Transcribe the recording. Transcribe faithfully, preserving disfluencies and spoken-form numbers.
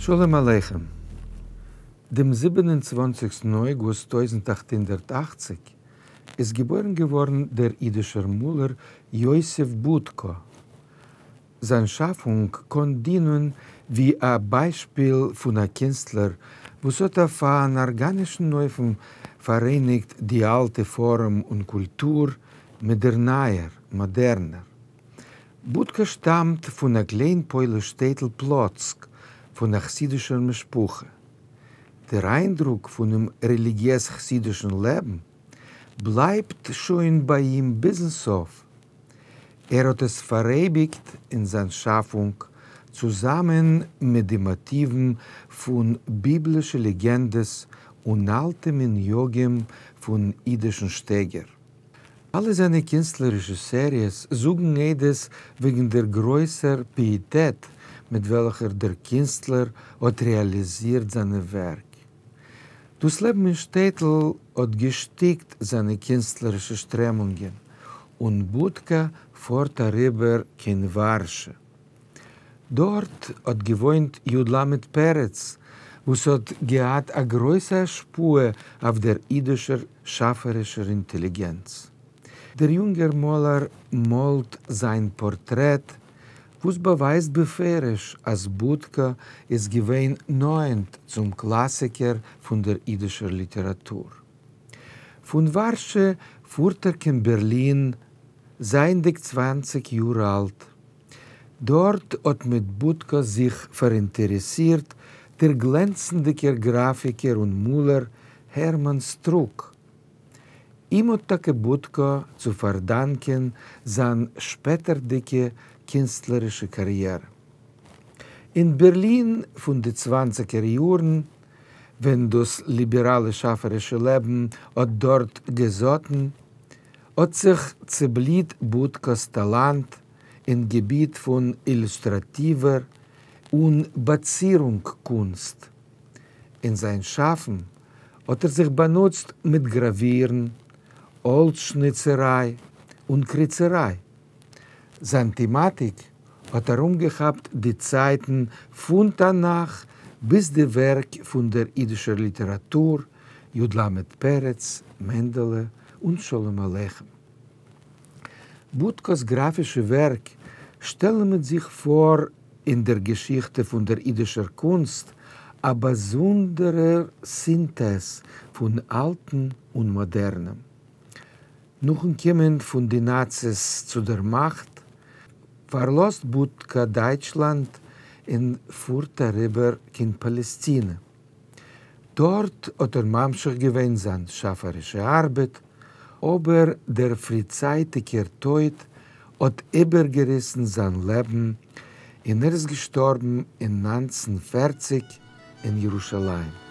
שלום עליכם. דעם זיבן און צוואַנציקסטן אויגוסט טויזנט אַכט הונדערט אַכציק איז געבוירן געווארן דער אידישער מאלער יוסף בודקא. זיין שאפונג קען דינען ווי א ביישפיל פון א קינסטלער, וואס האט אויף אן ארגאנישן אופן פאראייניגט די אלטע פארעם און קולטור מיט דער נייער, מאדערנער. בודקא שטאמט פון א קליין פויליש שטעטל פלוצק, פון א חסידישער משפחה. דער איינדרוק פונעם רעליגיעז-חסידישן לעבן בלייבט שוין ביי אים ביזן סוף. ער האט עס פאראייביגט אין זיין שאפונג, צוזאמען מיט די מאטיוון פון ביבלישע לעגענדעס און אלטע מנהגים פון אידישן שטייגער. אלע זיינע קינסטלערישע סעריעס זאגן עדות וועגן דער גרויסער פיעטעט, מיט וועלכער דער קינסטלער האט רעאליזירט זיינע ווערק. דאס לעבן אין שטעטל האט געשטיקט זיינע קינסטלערישע שטרעמונגען, און בודקא פארט אריבער קיין ווארשע. דארט האט געוואוינט י. ל. פרץ, וואס האט געהאט א גרויסע השפעה אויף דער אידישער שאפערישער אינטעליגענץ. דער יונגער מאלער מאלט זיין פארטרעט, וואס באווייזט בפירוש, אז בודקא איז געווען נאענט צום קלאסיקער פון דער אידישער ליטעראטור. פון ווארשע פארט ער קיין בערלין, זייענדיג צוואַנציק יאר אלט. דארט האט מיט בודקא זיך פאראינטערעסירט דער גלענצנדיגער גראפיקער און מאלער הערמאן סטרוק. אים האט טאקע בודקא צו פארדאנקען זיין שפעטערדיגע קינסטלערישע קאריערע. אין בערלין פון די צוואנציגער יארן, ווען דאס ליבעראלע שאפערישע לעבן האט דארט געזאטן, האט זיך צעבליט בודקא'ס טאלאנט אין געביט פון אילוסטראטיווער און באצירונג-קונסט. אין זיין שאפן האט ער זיך באנוצט מיט גראווירן, האלץ-שניצעריי און קריצעריי. זיין טעמאטיק האט ארומגעכאפט די צייטן פון תנך ביז די ווערק פון דער אידישער ליטעראטור, י. ל. פרץ, מענדעלע און שלום עליכם. בודקא'ס גראפישע ווערק שטעלן מיט זיך פאר אין דער געשיכטע פון דער אידישער קונסט א באזונדערער סינטעז פון אלטן און מאדערנעם. נאכן קומען פון די נאציס צו דער מאכט, פארלאזט בודקא דייטשלאנד און פארט אריבער קיין פאלעסטינע. דארט האט ער ממשיך געווען זיין שאפערישע ארבעט, אבער דער פריצייטיגער טויט האט איבערגעריסן זיין לעבן און ער איז געשטארבן אין נײַנצן פֿערציק אין ירושלים.